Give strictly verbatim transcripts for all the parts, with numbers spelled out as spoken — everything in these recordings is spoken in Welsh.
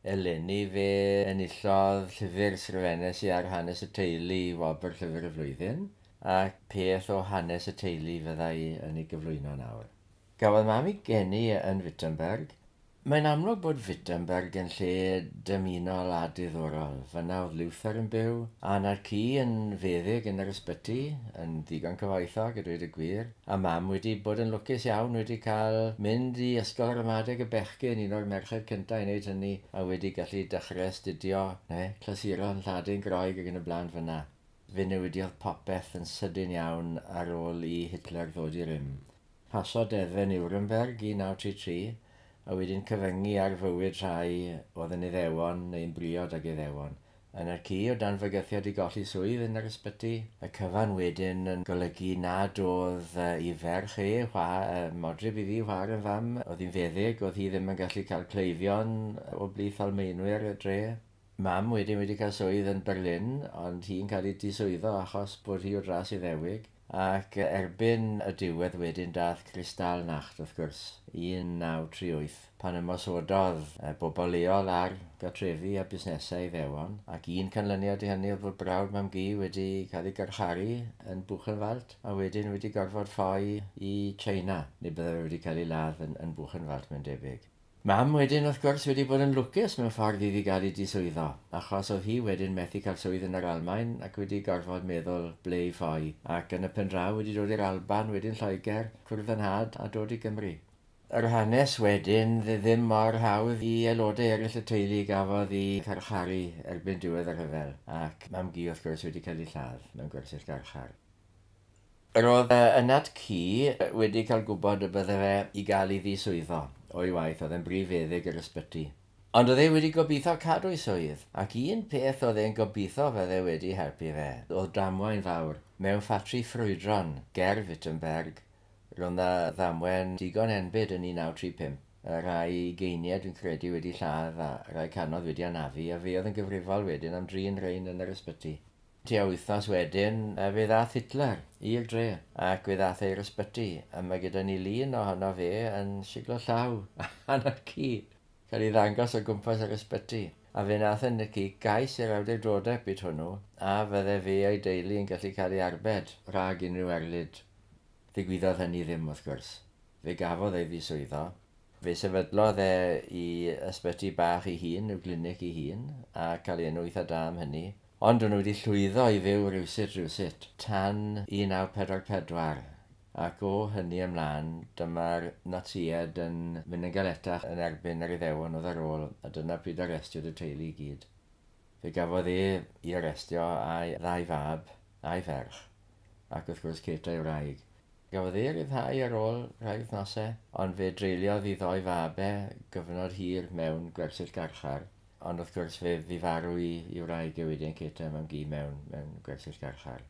Eleni fe enillodd llyfr sgrifennes i ar hanes y teulu wobr llyfr y flwyddyn, ac peth o hanes y teulu fydda i yn ei gyflwyno nawr. Gafodd mam ei geni yn Wittenberg. Mae'n amlwg bod Wittenberg yn lle dymunol a diddorol. Fyna oedd Luther yn byw, a na'r ci yn feddyg yn yr ysbyty, yn ddigon cyfoethog a dweud y gwir. A mam wedi bod yn lwcus iawn, wedi cael mynd i ysgol ramadeg y bechgyn, un o'r merched cyntaf i wneud hynny, a wedi gallu dechrau astudio, ne, clasuron, Lladin, Groeg ac yn y blaen fyna. Fe newidiodd popeth yn sydyn iawn ar ôl i Hitler ddod i rym. Paso deddfau Nuremberg un naw tri tri, a wedyn cyfyngu ar fywyd rhai oedd yn Iddewon neu'n briod ag Iddewon. Yn yr ci o dan fygythiad i golli swydd yn yr ysbyty, y cyfan wedyn yn golygu nad oedd ei ferch e, chwa, modryb iddi, chwaer yn fam, oedd hi'n feddyg, oedd hi ddim yn gallu cael cleifion o blith Almaenwyr y dre. Mam wedyn wedi cael swydd yn Berlin, ond hi'n cael ei diswyddo achos bod hi o dras Iddewig. Ac erbyn y diwedd wedyn dath Kristallnacht, wrth gwrs, un naw tri wyth, pan ymosododd bobl leol ar gartrefi a busnesau Iddewon, ac un canlyniad i hynny oedd bod brawd mam-gu wedi cael ei garcharu yn Buchenwald, a wedyn wedi gorfod ffoi i China, neu bydde fe wedi cael ei ladd yn, yn Buchenwald, mae'n debyg. Mam wedyn, wrth gwrs, wedi bod yn lwcus mewn ffordd iddi gael ei diswyddo, achos oedd hi wedyn methu cael swydd yn yr Almaen ac wedi gorfod meddwl ble i ffoi, ac yn y pen draw wedi dod i'r Alban, wedyn Lloegr, cwrdd yn nhad a dod i Gymru. Yr hanes wedyn ddim mor hawdd i aelodau eraill y teulu gafodd ei carcharu erbyn diwedd y rhyfel, ac mam-gu wrth gwrs wedi cael ei lladd mewn gwersyll garchar. Yr oedd ynad ci wedi cael gwybod y bydde fe i gael ei ddiswyddo o'i waith, oedd e'n brif feddyg yr ysbyty. Ond oedd e wedi gobeithio cadw ei swydd, ac un peth oedd e'n gobeithio fydde wedi helpu fe, oedd damwain fawr mewn ffatri ffrwydron ger Wittenberg. Roedd 'na ddamwain digon enbyd yn un naw tri pump, rhai ugeiniau dwi'n credu wedi lladd a rhai canodd wedi anafu, a fe oedd yn gyfrifol wedyn am drin rhain yn yr ysbyty. Tua wythnos wedyn, fe ddath Hitler i'r dre, ac fe ddath e i'r ysbyty, a mae gyda ni lun ohono fe yn siglo llaw arna'r ci, cael ei ddangos o gwmpas yr ysbyty. A fe nath yn y ci gais i'r awdurdodau byd hwnnw, a fydde fe a'i deulu yn gallu cael ei arbed rhag unrhyw erlid. Ddigwyddodd hynny ddim, wrth gwrs. Fe gafodd ei ddiswyddo. Fe sefydlodd e i ysbyty bach ei hun, i'w glinig ei hun, a cael ei enw eitha da am hynny. Ond o'n nhw wedi llwyddo i fyw rywsut rywsut tan un naw pedwar pedwar, ac o hynny ymlaen dyma'r Natsiaid yn mynd yn galetach yn erbyn yr Iddewon oedd ar ôl, a dyna pryd arestiwyd y teulu i gyd. Fe gafodd e ei arestio a'i ddau fab a'i ferch, ac wrth gwrs Kate a'i wraig. Gafodd e ryddhau ar ôl rhai wythnosau, ond fe dreuliodd ei ddoi fabe gyfnod hir mewn gwersyll garchar. Ond wrth gwrs fe fu farw i, i wraig e wedyn Kate mam-gu mewn, mewn gwersyll garchar.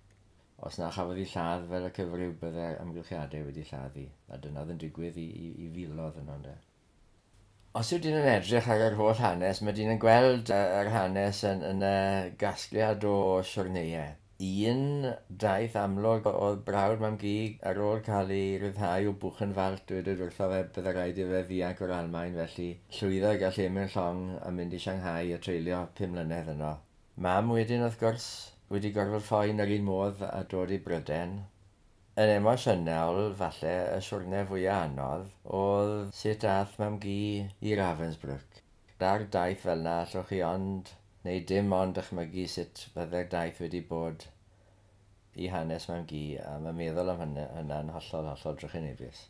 Os na chafodd ei lladd fel y cyfryw, bydde'r amgylchiadau wedi lladd hi, a dyna oedd yn digwydd i, i, i filoedd yno, ynde. Os yw dyn yn edrych ar yr holl hanes, mae dyn yn gweld yr hanes yn, yn y gasgliad o siwrneiau. Un daith amlwg oedd brawd mam-gu ar ôl cael ei ryddhau o Buchenwald, dweud wrtho fe bydde rhaid i fe ddianc o'r Almaen, felly llwyddo i gael lle mewn llong a mynd i Shanghai a treulio pum mlynedd yno. Mam wedyn, wrth gwrs, wedi gorfod ffoi yn yr un modd a dod i Bryden. Yn emosiynol, falle, y siwrne fwyaf anodd oedd sut ath mam-gu i Ravensbrück. Ar daith fel na allwch chi ond, neu dim ond dychmygu sut fydde'r daith wedi bod i hanes mam-gu, a mae meddwl am hynny, hynna'n hollol, hollol drychinebus.